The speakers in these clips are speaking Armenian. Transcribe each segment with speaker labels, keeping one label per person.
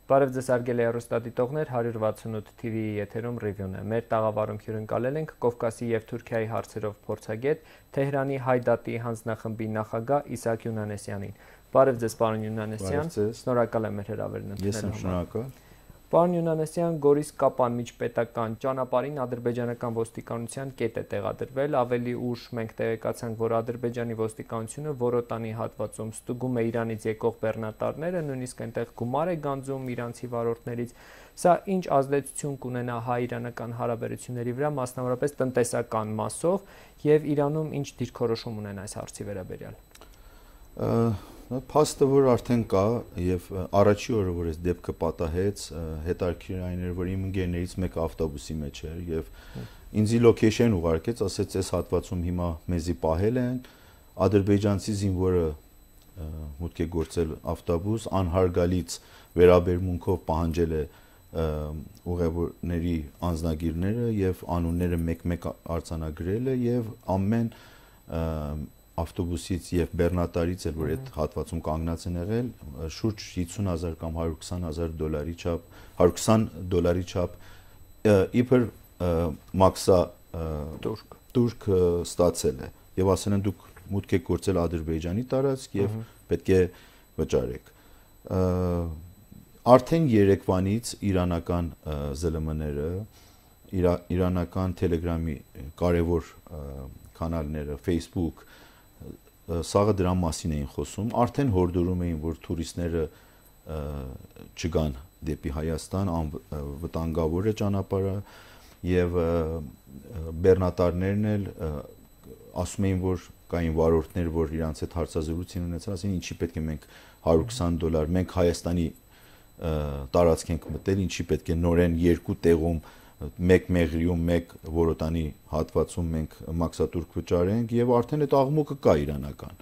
Speaker 1: Բարև ձեզ հարգելի հեռուստադիտողներ, 168 TV-ի եթերում ռիվյուն է։ Մեր տաղավարում հյուրընկալել ենք Կովկասի և Թուրքիայի հարցերով փորձագետ Թեհրանի Հայդատի հանձնախմբի նախագահ Իսահակ Յունանեսյանին։ Բարև ձեզ, պարոն Յունանեսյան, շնորհակալ եմ մեր հրավերն ընդունելու համար։ Պարոն Յունանեսյան, Գորիս-Կապան միջպետական ճանապարհին ադրբեջանական ոստիկանության կետ է տեղադրվել, ավելի ուշ մենք տեղեկացանք, որ Ադրբեջանի ոստիկանությունը Որոտանի հատվածում ստուգում է Իրանից եկող բեռնատարները, նույնիսկ այնտեղ գումար է գանձում իրանցի վարորդներից, սա ինչ ազդեցություն կունենա հայ-իրանական հարաբերությունների վրա, մասնավորապես տնտեսական մասով, եւ Իրանում ինչ դիրքորոշում ունեն այս հարցի վերաբերյալ։
Speaker 2: Փաստը որ արդեն կա եւ առաջի օրը որ այս դեպքը պատահեց, հետարքիր այն էր, որ իմ ընկերներից մեկը ավտոբուսի մեջ էր եւ ինձի լոքեյշն ուղարկեց, ասեց այս հատվածում հիմա մեզի պահել են, ադրբեջանցի զինվորը մուտք է գործել ավտոբուս, անհարգալից վերաբերմունքով պահանջել է ուղևորների անձնագիրները եւ անունները մեկ-մեկ արձանագրել է եւ ամեն ավտոբուսից եւ բեռնատարից էլ որ այդ հատվածում կանգնած են եղել շուրջ 50,000 կամ 120,000 դոլարի չափ իբր մաքսա турք ստացել է եւ ասել են դուք մուտք եք գործել Ադրբեջանի տարածք եւ պետք է վճարեք արդեն երեկվանից իրանական ԶԼՄ-ները իրանական Telegram-ի կարևոր կանալները Facebook սաղը դրա մասին էին խոսում, արդեն հորդորում էին, որ տուրիստները չգան դեպի Հայաստան, վտանգավոր է ճանապարհը եւ բեռնատարներն էլ ասում էին, որ կային վարորդներ, որ իրանց հետ հարցազրույց ունեցան, ասին ինչի պետք է մենք $120, մենք Հայաստանի տարածք ենք մտել, ինչի պետք է նորեն երկու տեղում մեկ Մեղրիում, մեկ Որոտանի հատվածում մենք մաքսատուրք վճարենք եւ արդեն այդ աղմուկը կա իրանական։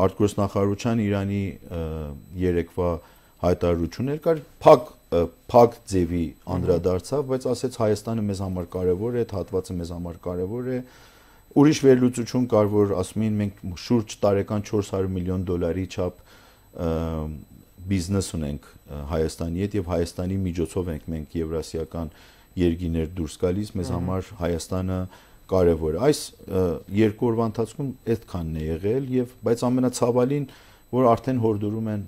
Speaker 2: Արտգործնախարարության Իրանի երեկվա հայտարարություններ կար, փակ ձևի անդրադարձավ, բայց ասեց Հայաստանը մեզ համար կարեւոր է, այդ հատվածը մեզ համար կարեւոր է։ Ուրիշ վերլուծություն կար, որ ասում էին մենք շուրջ տարեկան $400 միլիոն չափ բիզնես ունենք Հայաստանի հետ եւ Հայաստանի միջոցով ենք մենք եվրասիական երկիներ դուրս գալիս, մեզ համար Հայաստանը կարևոր է։ Այս երկու օրվա ընթացքում այդքանն է եղել եւ բայց ամենացավալին որ արդեն հորդորում են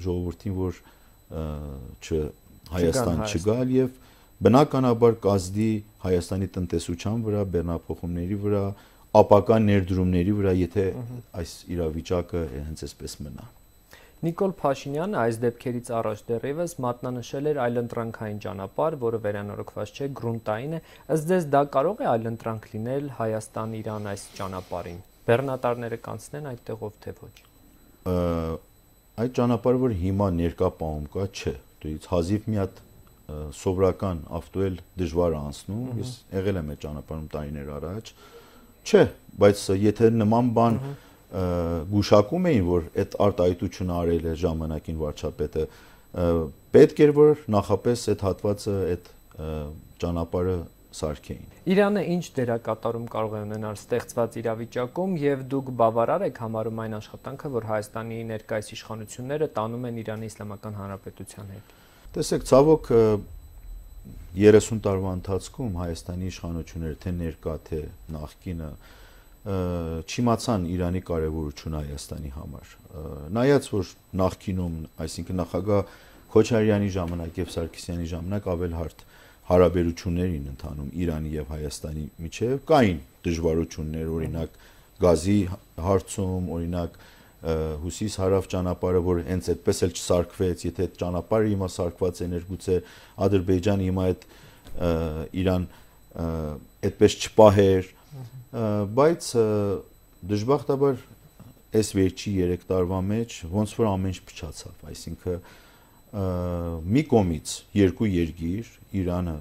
Speaker 2: ժողովրդին որ Հայաստան չգալ եւ բնականաբար կազդի Հայաստանի տնտեսության վրա, բեռնափոխումների վրա, ապական ներդրումների վրա, եթե այս իրավիճակը հենց այսպես մնա։
Speaker 1: Նիկոլ Փաշինյանը այս դեպքերից առաջ դեռևս մատնանշել էր այլընտրանքային ճանապարհ, որը վերանորոգված չէ, գրունտային է։ Ըստ ձեզ դա կարող է այլընտրանք լինել Հայաստան-Իրան այս ճանապարհին։ Բեռնատարները կանցնեն այդտեղով թե ոչ։
Speaker 2: Այդ ճանապարհը որ հիմա ներկա պահում կա, չէ։ Դից հազիվ մի հատ սովորական ավտո էլ դժվար է անցնում, ես եղել եմ այդ ճանապարհում տարիներ առաջ։ Չէ, բայց եթե նման բան գուշակում էին, որ այդ արտահայտությունը արել է ժամանակին վարչապետը, պետք էր որ նախապես այդ հատվածը, այդ ճանապարհը սարքեին։
Speaker 1: Իրանը ինչ դերակատարում կարող է ունենալ ստեղծված իրավիճակում եւ դուք բավարար եք համարում այն աշխատանքը, որ Հայաստանի ներկայիս իշխանությունները տանում են Իրանի Իսլամական Հանրապետության հետ։
Speaker 2: Տեսեք, ցավոք 30 տարվա ընթացքում Հայաստանի իշխանությունները թե ներկա թե նախկինը չիմացան Իրանի կարևորությունը Հայաստանի համար։ Նայած որ նախկինում, այսինքն նախագահ Քոչարյանի ժամանակ եւ Սարգսյանի ժամանակ ավելհարթ հարաբերություններ էին ընթանում Իրանի եւ Հայաստանի միջեւ, կային դժվարություններ, օրինակ գազի հարցում, օրինակ հյուսիս-հարավ ճանապարհը, որ հենց այդպես էլ չսարքվեց, եթե այդ ճանապարհը հիմա սարքված է, ներգուցե Ադրբեջանը հիմա այդ Իրան այդպես չպահեր, բայց դժբախտաբար այս վերջի 3 տարվա մեջ ոնց որ ամեն ինչ փչացավ, այսինքն մի կողմից երկու երկիր Իրանը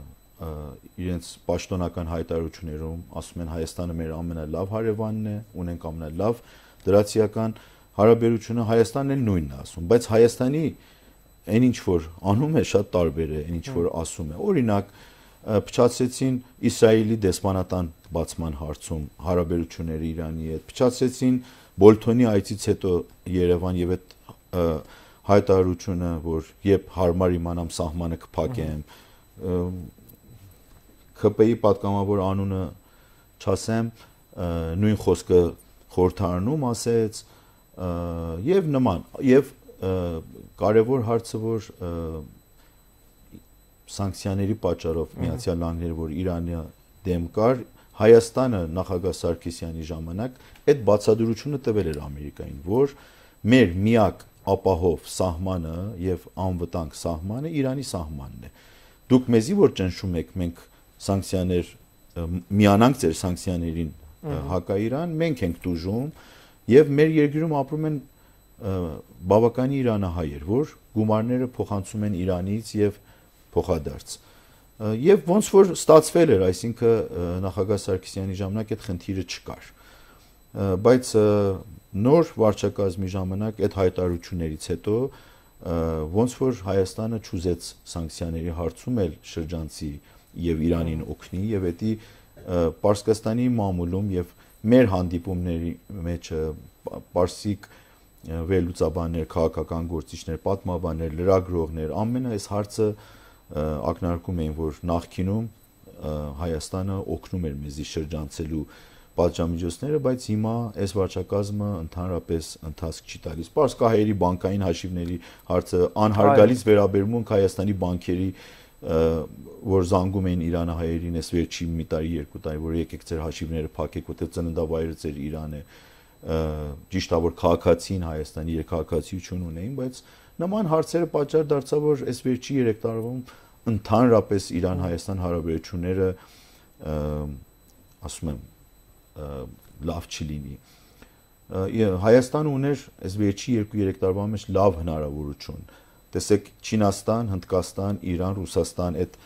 Speaker 2: իրենց պաշտոնական հայտարարություններում ասում են Հայաստանը մեր ամենալավ հարևանն է, ունենք ամենալավ դրացիական հարաբերությունը, Հայաստանն էլ նույնն է ասում, բայց Հայաստանի այն ինչ որ անում է շատ տարբեր է, այն ինչ որ ասում է, օրինակ փչացրեցին Իսրայելի դեսպանատան բացման հարցում հարաբերությունները Իրանի հետ, փչացրեցին Բոլթոնի այցից հետո Երևան եւ այդ հայտարարությունը, որ երբ հարմար իմանամ սահմանը կփակեմ, ՔՊ-ի պատգամավոր անունը չասեմ, նույն խոսքը խորհրդարանում ասեց եւ նման եւ կարևոր հարցը, որ սանկցիաների պատճառով Միացյալ Նահանգները, որ Իրանը դեմ կար, Հայաստանը նախագահ Սարգսյանի ժամանակ այդ բացատրությունը տվել էր Ամերիկային, որ մեր միակ ապահով սահմանը եւ անվտանգ սահմանը Իրանի սահմանն է։ Դուք մեզի որ ճնշում եք, մենք սանկցիաներ միանանք ձեր սանկցիաներին հակաիրան, մենք ենք դժում եւ մեր երկրում ապրում են բավականին իրանահայեր, որ գումարները փոխանցում են Իրանից եւ փոխադարձ։ Եվ ոնց որ ստացվել էր, այսինքն նախագահ Սարգսյանի ժամանակ այդ խնդիրը չկար։ Բայց նոր վարչակազմի ժամանակ այդ հայտարարություններից հետո ոնց որ Հայաստանը չուզեց սանկցիաների հարցում էլ շրջանցի եւ Իրանին օգնի եւ էդի Պարսկաստանի մամուլում եւ մեր հանդիպումների մեջ պարսիկ վերլուծաբաններ, քաղաքական գործիչներ, պատմաբաններ, լրագրողներ ամենը այս հարցը ակնարկում էին, որ նախկինում Հայաստանը օգնում էր մեզի շրջանցելու պատժամիջոցները, բայց հիմա այս վարչակազմը ընդհանրապես ընթացք չի տալիս։ Պարսկահայերի բանկային հաշիվների հարցը անհարգալից վերաբերմունք Հայաստանի բանկերի, որ զանգում էին իրանահայերին այս վերջի մի տարի, երկու տարի, որ եկեք ձեր հաշիվները փակեք, որտեղ ծննդավայրը ձեր Իրան է, ճիշտ է, որ քաղաքացին Հայաստանի երկհաղաքացիություն ունեին, բայց նման հարցերը պատճառ դարձավ, որ այս վերջի 3 տարում ընդհանրապես Իրան-Հայաստան հարաբերությունները ասում եմ լավ չլինի։ Հայաստանը ուներ այս վերջի 2-3 տարվա մեջ լավ հնարավորություն։ Տեսեք Չինաստան, Հնդկաստան, Իրան, Ռուսաստան այդ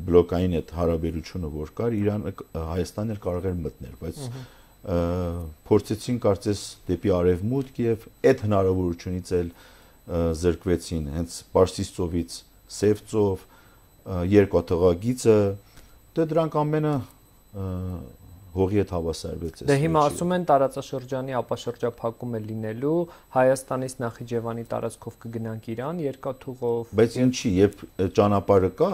Speaker 2: բլոկային այդ հարաբերությունը որ կար, Հայաստանն էլ կարող էր մտնել, բայց փորձեցին կարծես դեպի արևմուտք եւ այդ հնարավորությունից էլ զրկվեցին հենց Պարսից ծովից Սև ծով, երկաթղագիծը, դե դրանք ամենը հողի հետ հավասարվեց։
Speaker 1: Դե հիմա ասում են տարածաշրջանի ապաշրջափակում է լինելու, Հայաստանից Նախիջևանի տարածքով կգնանք Իրան երկաթուղով։
Speaker 2: Բայց ինչի, երբ ճանապարհը կա,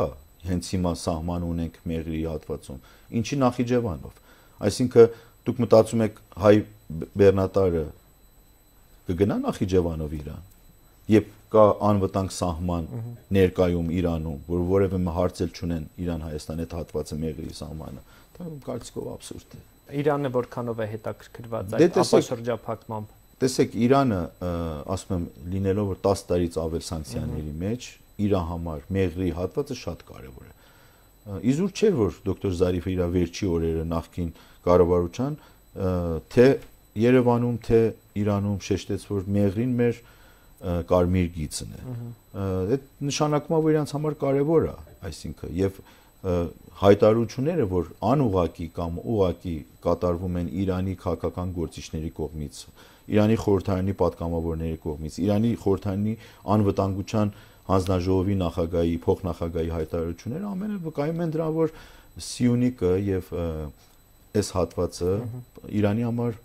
Speaker 2: հենց հիմա սահման ունենք Մեղրի հատվածում, ինչի Նախիջևանով։ Այսինքն դուք մտածում եք հայ բեռնատարը կգնա Նախիջևանով Իրան, երբ կա անվտանգ սահման ներկայում Իրանում, որ որևէ հարց էլ չունեն Իրան-Հայաստան այդ հատվածը Մեղրի սահմանը, դա կարծիքով աբսուրդ է։
Speaker 1: Իրանը որքանով է հետաքրքրված այդ ապաշրջափակմամբ։
Speaker 2: Տեսեք, Իրանը, ասում եմ, լինելով որ 10 տարից ավել սանկցիաների մեջ, իր համար Մեղրի հատվածը շատ կարևոր է։ Իզուր չէր, որ դոկտոր Զարիֆը իր վերջի օրերը նախկին կառավարության թե Երևանում, թե Իրանում շեշտեց, որ Մեղրին մեր կարմիր գիծն է։ Այդ նշանակում է, որ իրանց համար կարևոր է, այսինքն եւ հայտարարությունները, որ անուղակի կամ ուղակի կատարվում են Իրանի քաղաքական գործիչների կողմից, Իրանի խորհրդարանի պատգամավորների կողմից, Իրանի խորհրդարանի անվտանգության հանձնաժողովի նախագահի, փոխնախագահի հայտարարությունները ամենը վկայում են դրան, որ Սիունիքը եւ այս հատվածը Իրանի համար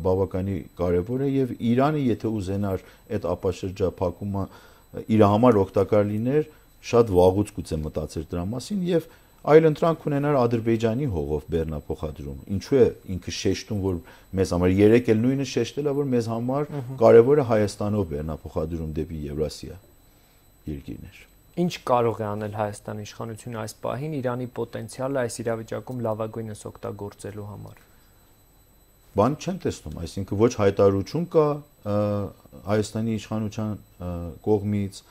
Speaker 2: բավականին կարևոր է եւ Իրանը եթե ուզենար այդ ապաշրջափակումը իր համար օգտակար լիներ, շատ վաղուց գուցե մտածեր դրա մասին եւ այլընտրանք ունենար Ադրբեջանի հողով բեռնափոխադրում։ Ինչու է ինքը շեշտում, որ մեզ համար 3 էլ նույնը շեշտել է, որ մեզ համար կարևոր է Հայաստանով բեռնափոխադրում դեպի Եվրասիա երկիրներ։
Speaker 1: Ինչ կարող է անել Հայաստանի իշխանությունը այս պահին Իրանի պոտենցիալը այս իրավիճակում լավագույնս օգտագործելու համար։
Speaker 2: Բան չեմ տեսնում, այսինքն ոչ հայտարարություն կա Հայաստանի իշխանության կողմից,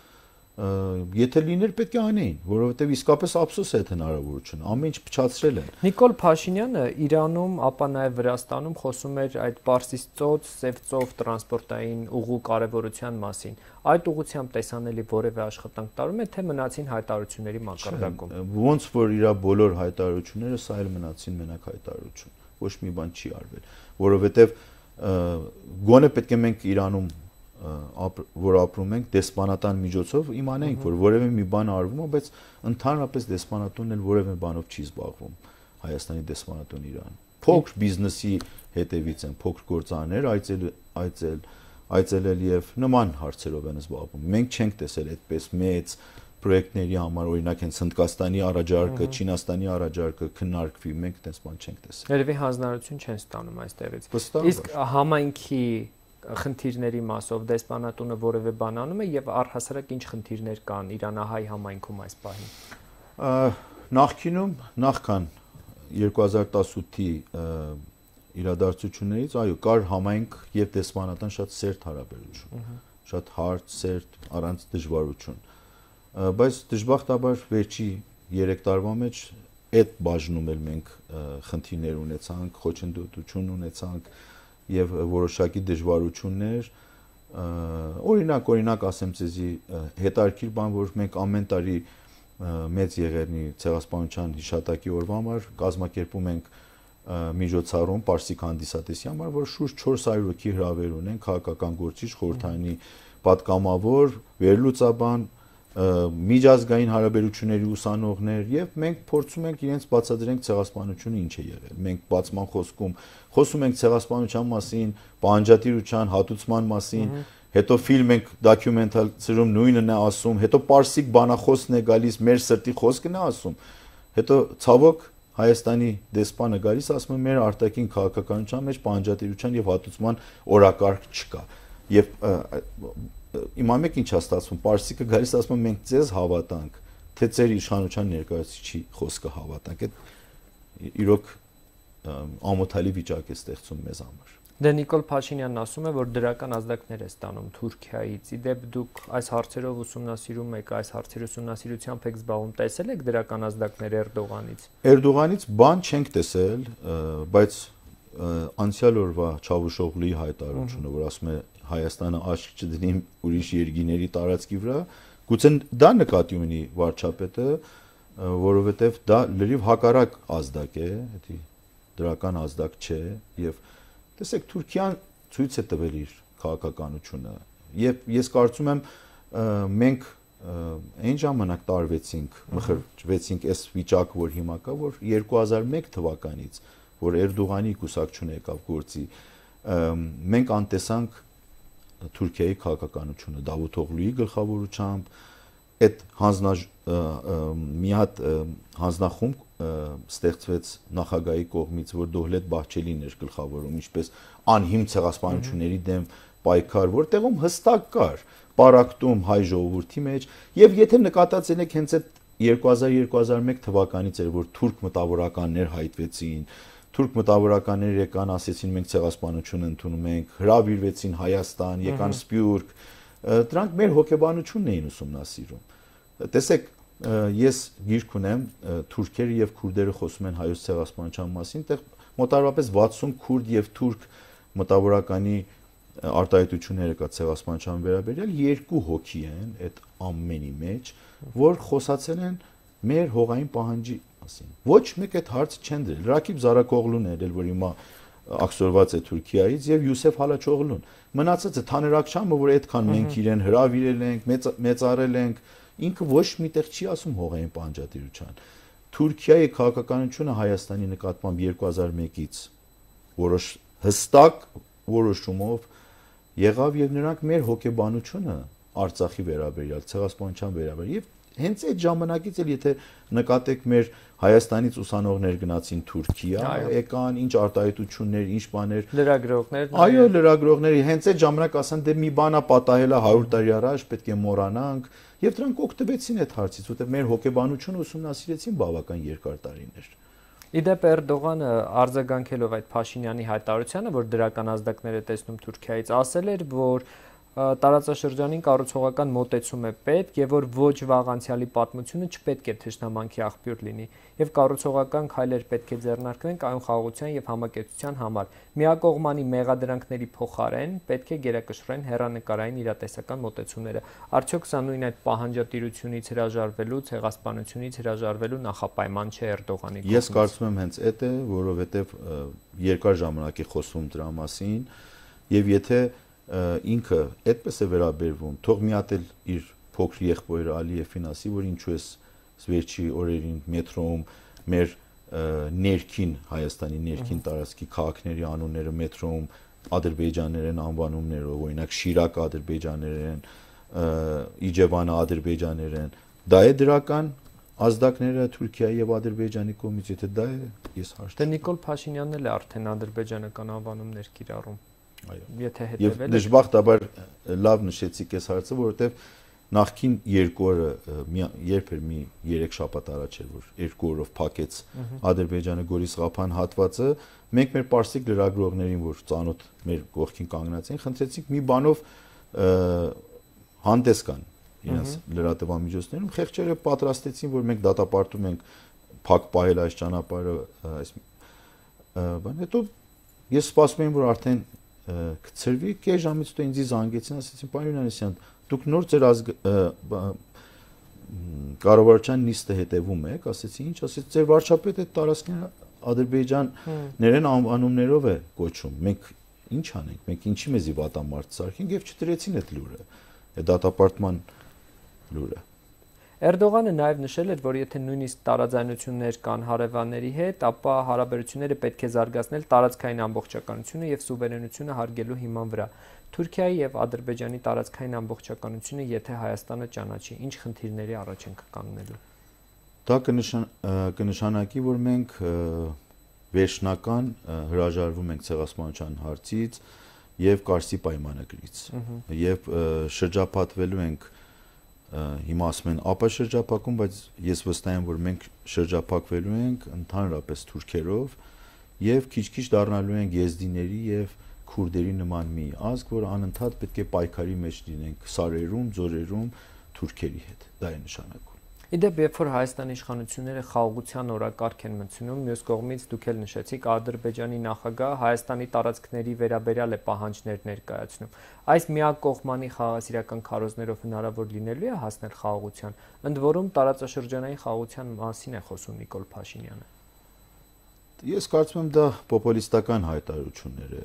Speaker 2: եթե լիներ պետք է անեին, որովհետև իսկապես ափսոս է այդ հնարավորությունը, ամեն ինչ փչացրել են։
Speaker 1: Նիկոլ Փաշինյանը Իրանում, ապա նաև Վրաստանում խոսում էր այդ Պարսից ծոց, Սև ծով տրանսպորտային ուղու կարևորության մասին։ Այդ ուղղությամբ տեսանելի որևէ աշխատանք տարվում է, թե մնացին հայտարարությունների մակարդակում։
Speaker 2: Ոնց որ իր բոլոր հայտարարությունները սա էլ մնացին մենակ հայտարարություն, ոչ մի բան չի արվել, որովհետև գոնե պետք է մենք Իրանում որ ապրում ենք դեսպանատան միջոցով իմանենք, որ որևէ մի բան արվում է, բայց ընդհանրապես դեսպանատունն էլ որևէ բանով չի զբաղվում Հայաստանի դեսպանատուն Իրան։ Փոքր բիզնեսի հետևից են, փոքր գործարաններ, այցել այցելել եւ նման հարցերով են զբաղվում։ Մենք չենք տեսել այդպես մեծ պրոյեկտների համար, օրինակ հենց Հնդկաստանի առաջարկը, Չինաստանի առաջարկը քննարկվի, մենք այդպես բան չենք տեսել։
Speaker 1: Երևի հանձնարարություն չեն ստանում այստեղից։ Իսկ համայնքի խնդիրների մասով դեսպանատունը որևէ բան անում է եւ առհասարակ ինչ խնդիրներ կան իրանահայ համայնքում այս պահին։
Speaker 2: Նախկինում, նախքան 2018-ի իրադարձություններից, այո, կար համայնք եւ դեսպանատան շատ սերտ հարաբերություն, շատ հարթ, սերտ, առանց դժվարություն։ Բայց դժբախտաբար վերջի 3 տարվա մեջ այդ բաժնում էլ մենք խնդիրներ ունեցանք, խոչընդոտություն ունեցանք եւ որոշակի դժվարություններ, օրինակ ասեմ ցեզի հետարքիր բան, որ մենք ամեն տարի մեծ եղերնի ցեղասպանության հիշատակի օրվա համար կազմակերպում ենք միջոցառում Պարսիկ հանդիսատեսի համար, որ շուրջ 400 հոգի հրավեր ունեն քաղաքական գործիչ, խորհրդանի պատգամավոր, վերլուծաբան, միջազգային հարաբերությունների ուսանողներ եւ մենք փորձում ենք իրենց բացատրենք ցեղասպանությունը ինչ է եղել։ Մենք բացման խոսքում խոսում ենք ցեղասպանության մասին, պահանջատիրության, հատուցման մասին, հետո ֆիլմ ենք դոկումենտալացիում նույնն է ասում, հետո պարսիկ բանախոսն է գալիս, մեր սրտի խոսքն է ասում։ Հետո ցավոք Հայաստանի դեսպանը գալիս ասում է մեր արտաքին քաղաքականության մեջ պահանջատիրության եւ հատուցման օրակարգ չկա։ Եվ իմամ եք ինչ է ստացվում, պարսիկը գալիս ասում է մենք ձեզ հավատանք, թե ձեր իշխանության ներկայացուցիչի խոսքը հավատանք։ Այդ իրոք ամոթալի վիճակ է ստեղծում մեզ համար։
Speaker 1: Դե Նիկոլ Փաշինյանն ասում է, որ դրական ազդակներ է ստանում Թուրքիայից։ Իդեպ դուք այս հարցերով ուսումնասիրում եք, այս հարցերի ուսումնասիրությամբ եք զբաղվում, տեսել եք դրական ազդակներ Էրդողանից։
Speaker 2: Էրդողանից բան չենք տեսել, բայց անցյալ օրվա Չավուշօղլուի հայտարարությունը, որ ասում է Հայաստանը աչք չդնի ուրիշ երկիների տարածքի վրա, գուցե դա նկատի ունի վարչապետը, որովհետև դա լրիվ հակառակ ազդակ է, դա դրական ազդակ չէ եւ տեսեք Թուրքիան ցույց է տվել իր քաղաքականությունը եւ ես կարծում եմ մենք այն ժամանակ տարվեցինք, մխրճվեցինք այս վիճակը, որ հիմա կա, որ 2001 թվականից, որ Էրդողանի կուսակցությունը եկավ գործի, մենք անտեսանք Թուրքիայի քաղաքականությունը Դավութօղլուի գլխավորությամբ, այդ մի հատ հանձնախումբ ստեղծվեց նախագահի կողմից, որ Դովլետ Բահչելին էր գլխավորում, ինչպես անհիմն ցեղասպանությունների դեմ պայքար, որտեղում հստակ կար պարակտում հայ ժողովրդի մեջ, եւ եթե նկատած եք հենց այդ 2000-2001 թվականից էր, որ թուրք մտավորականներ հայտվեցին, թուրք մտավորականներ եկան, ասեցին մենք ցեղասպանություն ընդունում ենք, հրավիրվեցին Հայաստան, եկան Սփյուռք, դրանք մեր հոգեբանությունն էին ուսումնասիրում։ Տեսեք, ես գիրք ունեմ, թուրքերը եւ քուրդերը խոսում են հայոց ցեղասպանության մասին, այդտեղ մոտավորապես 60 քուրդ եւ թուրք մտավորականի արտահայտությունները կա ցեղասպանության վերաբերյալ, 2 հոգի են այդ ամենի մեջ, որ խոսացել են մեր հողային պահանջի մասին։ Ոչ մեկ այդ հարցը չեն դրել։ Ռակիբ Զարակօղլուն էր, որ հիմա ակսորված է Թուրքիայից, եւ Յուսեֆ Հալաչօղլուն։ Մնացածը Թանրակչյանը, որ այդքան մենք իրեն հրավիրել ենք, մեծարել ենք, ինքը ոչ միտեղ չի ասում հողային պահանջատիրության։ Թուրքիայի քաղաքականությունը Հայաստանի նկատմամբ 2001-ից հստակ որոշումով եղավ եւ նրանք մեր հոգեբանությունը Արցախի վերաբերյալ, ցեղասպանության վերաբերյալ եւ հենց այդ ժամանակից էլ եթե նկատեք մեր Հայաստանից ուսանողներ գնացին Թուրքիա, եկան ինչ արտահայտություններ, ինչ բաներ,
Speaker 1: լրագրողներ,
Speaker 2: այո, լրագրողների հենց այդ ժամանակ ասան դե մի բանա պատահել է 100 տարի առաջ, պետք է մոռանանք եւ դրանք օգտվեցին այդ հարցից, որտեղ մեր հոգեբանությունը ուսումնասիրեցին բավական երկար տարիներ։
Speaker 1: Իդեպ Էրդողանը արձագանքելով այդ Փաշինյանի հայտարարությանը, որ դրական ազդակներ է տեսնում Թուրքիայից, ասել էր, որ տարածաշրջանին կառուցողական մոտեցում է պետք եւ որ ոչ վաղ անցյալի պատմությունը չպետք է թշնամանքի աղբյուր լինի եւ կառուցողական քայլեր պետք է ձեռնարկվեն կայուն խաղաղության եւ համակեցության համար։ Միակողմանի մեղադրանքների փոխարեն պետք է գերակշռեն հեռանկարային իրատեսական մոտեցումները։ Արդյոք սա նույն այդ պահանջատիրությունից հրաժարվելու, ցեղասպանությունից հրաժարվելու նախապայման չէ Էրդողանի կողմից։
Speaker 2: Ես կարծում եմ հենց այդ է, որովհետեւ երկար ժամանակ է խոսվում դրա մասին եւ եթե ինքը այդպես է վերաբերվում, թող մի հատ էլ իր փոքր եղբայրը Ալիևին ասի, որ ինչու է վերջի օրերին մետրոում մեր ներքին Հայաստանի ներքին տարածքի քաղաքների անունները մետրոում ադրբեջաներեն անվանումներով, օրինակ Շիրակը ադրբեջաներեն, Իջևանը ադրբեջաներեն, դա է դրական ազդակները Թուրքիայի եւ Ադրբեջանի կողմից, եթե դա է, ես հարց։
Speaker 1: Դե Նիկոլ Փաշինյանն էլ արդեն ադրբեջանական անվանումներ կիրառում։
Speaker 2: Այո։
Speaker 1: Եթե
Speaker 2: Եվ
Speaker 1: հետևել
Speaker 2: դժբախտաբար լավ նշեցիք այս հարցը, որովհետեւ նախքին 2 օրը երբ էր մի 3 շաբաթ առաջ էր, որ 2 օրով փակեց Ադրբեջանը Գորիս-Ղափան հատվածը, մենք մեր պարսիկ լրագրողներին, որ ծանոթ մեր կողքին կանգնած էին, խնդրեցինք մի բանով հանդես կան իրենց լրատվամիջոցներում, խեղճերը պատրաստեցին, որ մենք դատապարտում ենք փակ պահել այս ճանապարհը, այս բան, հետո ես սպասում եմ, որ արդեն կցրվի, կես ժամից հետո ինձ զանգեցին, ասեցին, պարոն Հովհաննիսյան, դուք նոր ձեր կառավարության նիստը հետևում եք, ասեցի, ինչ, ասեցի, ձեր վարչապետը տարածքները ադրբեջաներեն անվանումներով է կոչում, մենք ինչ անենք, մենք ինչի մեզի վատամարդ սարքենք եւ չդրեցին այդ լուրը, այդ դատապարտման լուրը։
Speaker 1: Էրդողանը նաև նշել էր, որ եթե նույնիսկ տարաձայնություններ կան հարևանների հետ, ապա հարաբերությունները պետք է զարգացնել տարածքային ամբողջականությունը եւ սուվերենությունը հարգելու հիման վրա։ Թուրքիայի եւ Ադրբեջանի տարածքային ամբողջականությունը, եթե Հայաստանը ճանաչի, ինչ խնդիրների առաջ ենք կանգնելու։
Speaker 2: Դա կնշանակի, որ մենք վերջնական հրաժարվում ենք ցեղասպանության հարցից եւ Կարսի պայմանագրից եւ շրջապատվելու ենք հիմա ասում են ապա շրջապակում, բայց ես վստահ եմ, որ մենք շրջապակվելու ենք ընդհանրապես թուրքերով եւ քիչ-քիչ դառնալու ենք եզդիների եւ քուրդերի նման մի ազգ, որ անընդհատ պետք է պայքարի մեջ լինենք սարերում, ձորերում թուրքերի հետ։ Դա է նշանակում։
Speaker 1: Իդեպ, երբ որ Հայաստանի իշխանությունները խաղաղության օրակարգ են մտցնում, մյուս կողմից դուք էլ նշեցիք, Ադրբեջանի նախագահը Հայաստանի տարածքների վերաբերյալ է պահանջներ ներկայացնում։ Այս միակողմանի խաղաղասիրական քարոզներով հնարավոր լինելու է հասնել խաղաղության, ընդ որում տարածաշրջանային խաղաղության մասին է խոսում Նիկոլ Փաշինյանը։
Speaker 2: Ես կարծում եմ դա պոպուլիստական հայտարարություններ է,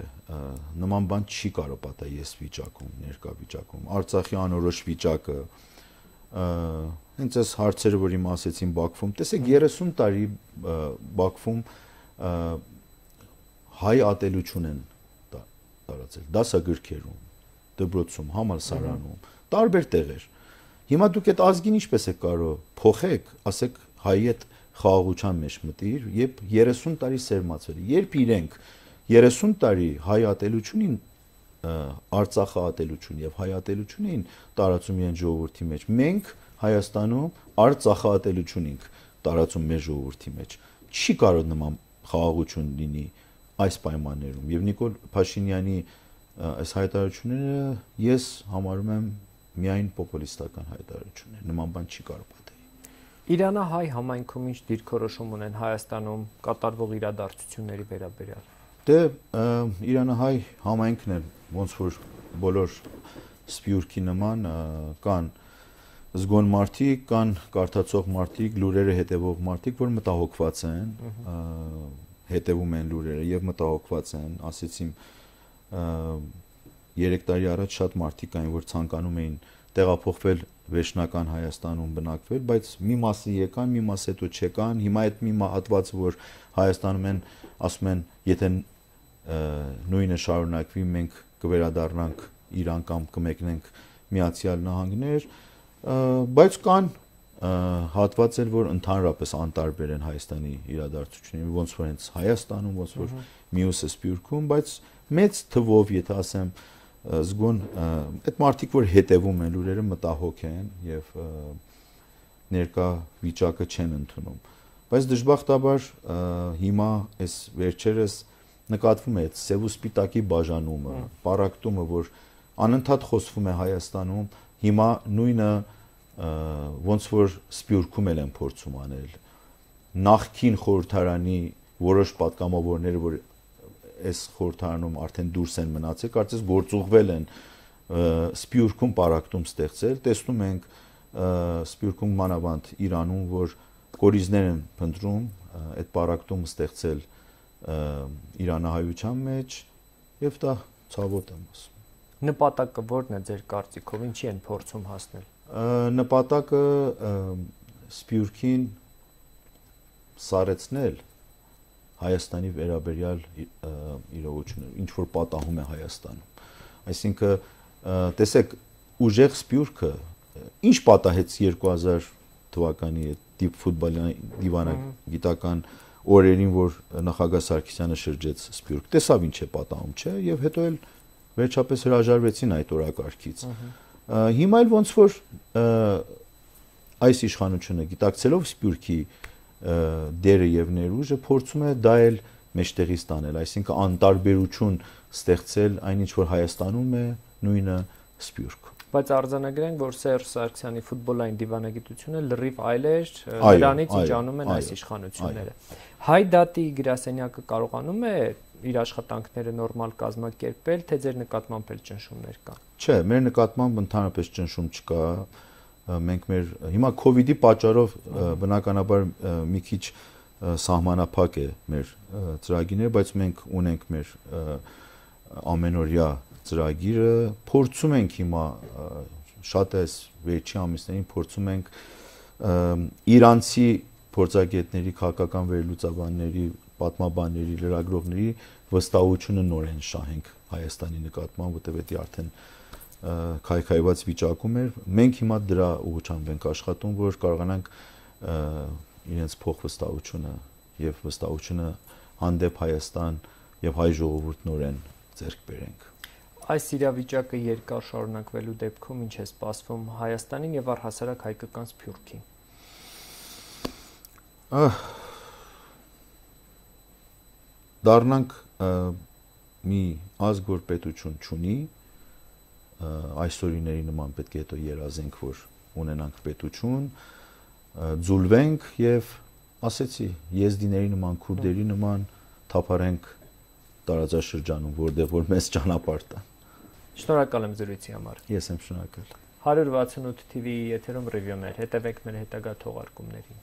Speaker 2: նման բան չի կարող պատահել այս վիճակում, ներկա վիճակում։ Արցախի անորոշ վիճակը, հենց այս հարցերը, որ իմ ասեցին Բաքվում, տեսեք 30 տարի Բաքվում հայ ատելություն են տարածել, դասագրքերում, դպրոցում, համալսարանում, տարբեր տեղեր։ Հիմա դուք այդ ազգին ինչպես եք կարող փոխեք, ասեք հայի հետ խաղաղության մեջ մտիր, երբ 30 տարի սերմացել է, երբ իրենք 30 տարի հայ ատելությունին, Արցախի ատելություն եւ հայ ատելությունին տարածում իրեն ժողովրդի մեջ, մենք Հայաստանում Արցախի ատելություն ենք տարածում մեր ժողովրդի մեջ։ Չի կարող նման խաղաղություն լինի այս պայմաններում եւ Նիկոլ Փաշինյանի այս հայտարարությունները ես համարում եմ միայն պոպուլիստական հայտարարություններ, նման բան չի կարող պատահել։
Speaker 1: Իրանահայ համայնքում ինչ դիրքորոշում ունեն Հայաստանում կատարվող իրադարձությունների վերաբերյալ։
Speaker 2: Դե իրանահայ համայնքն է ոնց որ բոլոր սպյուրքի նման կան զգոն մարդիկ, կան կարդացող մարդիկ, լուրերը հետևող մարդիկ, որ մտահոգված են, հետևում են լուրերը եւ մտահոգված են, ասեցիմ 3 տարի առաջ շատ մարդիկ կային, որ ցանկանում էին տեղափոխվել վերջնական Հայաստանում բնակվել, բայց մի մասը եկան, մի մասը հետո չեկան, հիմա այդ մի հատվածը, որ Հայաստանում են, ասում են, եթե նույնը շարունակվի, մենք կվերադառնանք Իրան կամ կմեկնենք Միացյալ Նահանգներ, բայց կան հատվածեր, որ ընդհանրապես անտարբեր են Հայաստանի իրադարձություններին, ոնց որ հենց Հայաստանում, ոնց որ մյուսը Սփյուռքում, բայց մեծ թվով, եթե ասեմ, զգոն այդ մարդիկ, որ հետևում են լուրերը, մտահոգ են եւ ներկա վիճակը չեն ընդունում։ Բայց դժբախտաբար հիմա այս վերջերս նկատվում է այդ սև ու սպիտակի բաժանումը, պարակտումը, որ անընդհատ խոսվում է Հայաստանում, հիմա նույնը ոնց որ Սփյուռքում են փորձում անել։ Նախքին խորհրդարանի որոշ պատգամավորները, որ այս խորհրդարանում արդեն դուրս են մնացել, կարծես գործուղվել են Սփյուռքում պարակտում ստեղծել, տեսնում ենք Սփյուռքում մանավանդ Իրանում, որ կորիզներ են փնտրում այդ պարակտումը ստեղծել իրանահայության մեջ եւ դա ցավոտ եմ ասում։
Speaker 1: Նպատակը ո՞րն է ձեր կարծիքով, ինչի են փորձում հասնել։
Speaker 2: Նպատակը Սփյուռքին սարեցնել Հայաստանի վերաբերյալ իրողությունը, ինչ որ պատահում է Հայաստանում։ Այսինքն, տեսեք, ուժեղ Սփյուռքը ինչ պատահեց 2000 թվականի ֆուտբոլային դիվանագիտական օրերին, որ նախագահ Սարգսյանը շրջեց Սփյուռք, տեսավ ինչ է պատահում, չէ, եւ հետո էլ վերջապես հրաժարվեցին այդ օրակարգից։ Հիմա էլ ոնց որ այս իշխանությունը գիտակցելով Սփյուռքի դերը եւ ներուժը փորձում է դա էլ մեջտեղից տանել, այսինքն անտարբերություն ստեղծել այն ինչ որ Հայաստանում է, նույնը Սփյուռք։
Speaker 1: Բայց արձանագրենք, որ Սերժ Սարգսյանի ֆուտբոլային դիվանագիտությունը լրիվ այլ էր նրանից, ինչ անում են այս իշխանությունները։ Հայ դատի գրասենյակը կարողանում է իր աշխատանքները նորմալ կազմակերպել, թե ձեր նկատմամբ էլ ճնշումներ կան։
Speaker 2: Չէ, մեր նկատմամբ ընդհանրապես ճնշում չկա։ Մենք մեր հիմա COVID-ի պատճառով բնականաբար մի քիչ սահմանափակ է մեր ծրագիրները, բայց մենք ունենք մեր ամենօրյա ծրագիրը, փորձում ենք հիմա շատ էս վերջի ամիսներին փորձում ենք իրանցի փորձագետների, քաղաքական վերլուծաբանների, պատմաբանների, լրագրողների վստահությունը նորեն շահենք Հայաստանի նկատմամբ, որտեղ դա արդեն քայքայված վիճակում էր։ Մենք հիմա դրա ուղղությամբ ենք աշխատում, որ կարողանանք իրենց փոխվստահությունը եւ վստահությունը հանդեպ Հայաստան եւ հայ ժողովուրդ նորեն ձեռք բերենք։
Speaker 1: Այս իրավիճակը երկար շարունակվելու դեպքում ինչ է սպասվում Հայաստանին եւ առհասարակ հայկական Սփյուռքին։
Speaker 2: Դառնանք մի ազգ, որ պետություն չունի, այսօրիների նման պետք է հետո երազենք, որ ունենանք պետություն, ձուլվենք եւ ասեցի, եզդիների նման, քուրդերի նման թափարենք տարածաշրջանում, որտեղ որ մեզ ճանապարհ տան։
Speaker 1: Շնորհակալ եմ զրույցի համար։
Speaker 2: Ես եմ շնորհակալ։
Speaker 1: 168 TV-ի եթերում ռիվյուներ, հետևեք մեր հետագա թողարկումներին։